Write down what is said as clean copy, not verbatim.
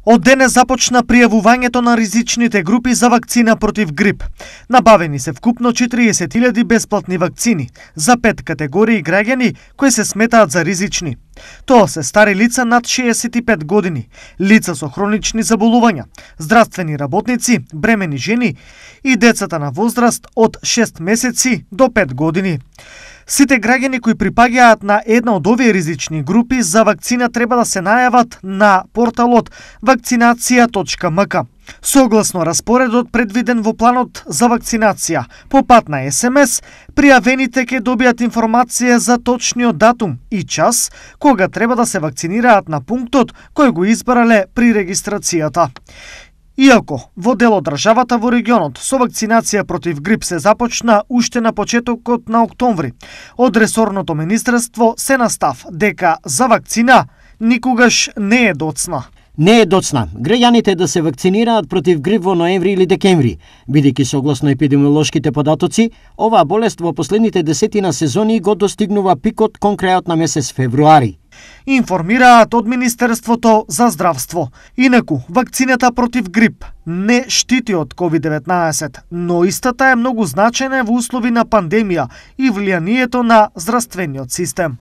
Од денес започна пријавувањето на ризичните групи за вакцина против грип. Набавени се вкупно 40.000 бесплатни вакцини за 5 категории граѓани кои се сметаат за ризични. Тоа се стари лица над 65 години, лица со хронични заболувања, здравствени работници, бремени жени и децата на возраст од 6 месеци до 5 години. Сите граѓани кои припаѓаат на една од овие ризични групи за вакцина треба да се најават на порталот vakcinacija.mk. Согласно распоредот предвиден во планот за вакцинација, по пат на СМС, пријавените ќе добијат информација за точниот датум и час кога треба да се вакцинираат на пунктот кој го избрале при регистрацијата. Иако во дел од државата во регионот со вакцинација против грип се започна уште на почетокот на октомври, од ресорното министерство се настав дека за вакцина никогаш не е доцна. Не е доцна граѓаните да се вакцинираат против грип во ноември или декември, бидејќи согласно епидемиолошките податоци, оваа болест во последните десетина сезони го достигнува пикот кон крајот на месец февруари. Информираат од Министерството за здравство. Инаку, вакцината против грип не штити од COVID-19, но истата е многу значајна во услови на пандемија и влијанието на здравствениот систем.